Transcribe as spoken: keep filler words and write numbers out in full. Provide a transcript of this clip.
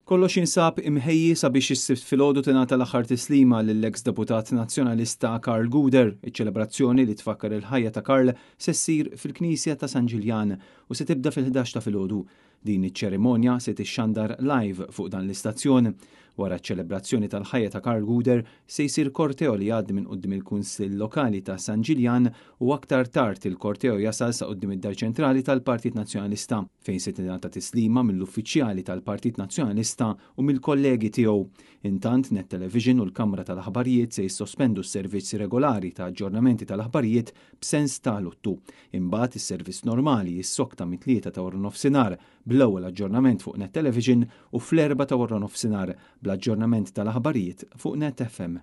Kollox jinsab imħejji sabiex is-Sibt filgħodu tingħata l-aħħar tislima lill-eks deputat Nazzjonalista Karl Gouder. Iċ-ċelebrazzjoni li tfakkar il-ħajja ta' Karl se ssir fil-Knisja ta' San Ġiljan u se tibda fil-ħdax ta' filgħodu. Din iċ-ċerimonja se tixxandar live fuq dan l-istazzjon. Wara ċ-ċelebrazzjoni tal-ħajja ta' Karl Gouder se jsir korteo li jgħaddi minn quddiem il-Kunsill Lokali ta' San Ġiljan u aktar tard il-korteo jasal sa quddiem id-Dar Ċentrali tal-Partit Nazzjonalista, fejn se tingħata tislima mill-uffiċjali tal-Partit Nazzjonalista u mill-kollegi tiegħu. Intant, Net Television u l-Kamra tal-Aħbarijiet se jissospendu s-servizz regolari ta' aġġornamenti tal-aħbarijiet b'sens ta' luttu. Imbagħad is-servizz normali jissokta mit-tlieta ta' wara nofsinhar bl-ewwel aġġornament fuq Net Television u fl-erbgħa ta' wara nofsinhar bl-aġġornament tal-aħbarijiet fuq Net F M.